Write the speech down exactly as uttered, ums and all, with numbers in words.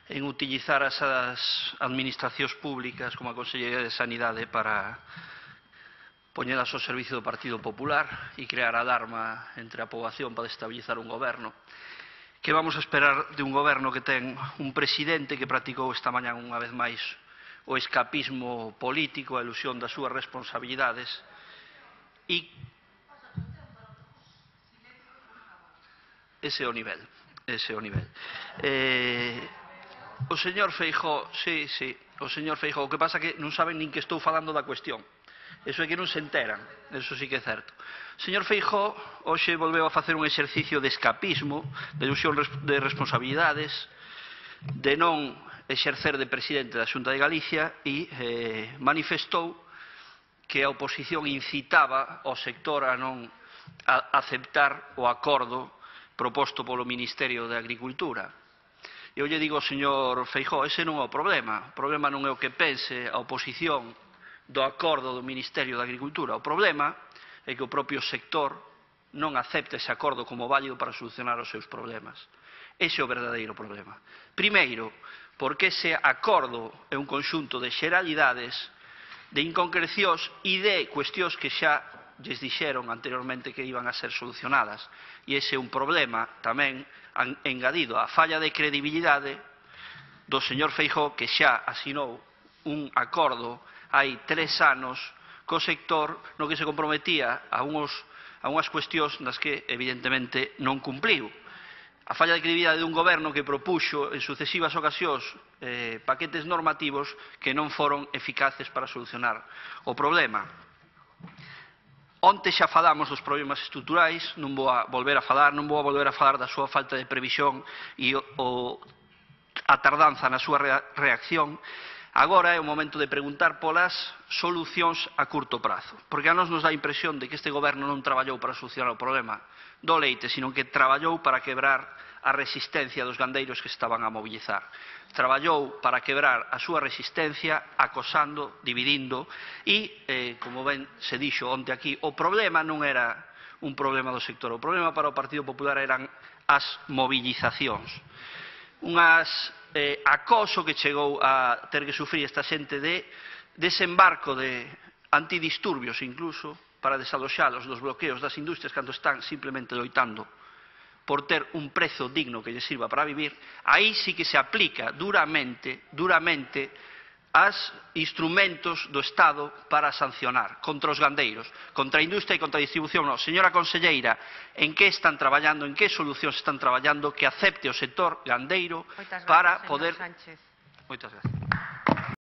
en utilizar as administracións públicas como a Consellería de Sanidade para poñelas ao servicio do Partido Popular e crear alarma entre a poboación para estabilizar un goberno. Que vamos a esperar de un goberno que ten un presidente que practicou esta mañá unha vez máis o escapismo político, a ilusión das súas responsabilidades e ese é o nivel, ese é o nivel. Eh, o señor Feijóo, sí, sí, o señor Feijóo, o que pasa que non saben nin que estou falando da cuestión. Eso é que non se enteran, eso sí que é certo. O señor Feijóo hoxe volveu a facer un exercicio de escapismo, de ilusión de responsabilidades, de non exercer de presidente da Xunta de Galicia e eh, manifestou que a oposición incitaba ao sector a non a aceptar o acordo proposto polo Ministerio de Agricultura. Eu lle digo ao señor Feijóo, ese non é o problema. O problema non é o que pense a oposición do acordo do Ministerio de Agricultura. O problema é que o propio sector non acepta ese acordo como válido para solucionar os seus problemas. Ese é o verdadeiro problema. Primeiro, porque ese acordo é un conxunto de xeralidades, de inconcrecións e de cuestións que xa lles dixeron anteriormente que iban a ser solucionadas. E ese é un problema tamén engadido á falla de credibilidade do señor Feijóo, que xa asinou un acordo hai tres anos co sector no que se comprometía a, unos, a unhas cuestións nas que evidentemente non cumpliu. A falla de credibilidade dun goberno que propuxo en sucesivas ocasións eh, paquetes normativos que non foron eficaces para solucionar o problema. Onte xa falamos dos problemas estruturais, non vou a volver a falar, non vou a volver a falar da súa falta de previsión e o, o, a tardanza na súa reacción. Agora é o momento de preguntar polas solucións a curto prazo, porque a nos nos dá a impresión de que este goberno non traballou para solucionar o problema do leite, sino que traballou para quebrar a resistencia dos gandeiros que estaban a mobilizar. Traballou para quebrar a súa resistencia acosando, dividindo e, eh, como ben se dixo onte aquí, o problema non era un problema do sector, o problema para o Partido Popular eran as movilizacións. Unhas eh, acoso que chegou a ter que sufrir esta xente de desembarco de antidisturbios incluso para desaloxalos dos bloqueos das industrias cando están simplemente loitando por ter un prezo digno que lles sirva para vivir. Aí sí que se aplica duramente, duramente as instrumentos do Estado para sancionar contra os gandeiros, contra a industria e contra a distribución. No, señora conselleira, en que están traballando, en que solucións están traballando que acepte o sector gandeiro para poder... Moitas gracias.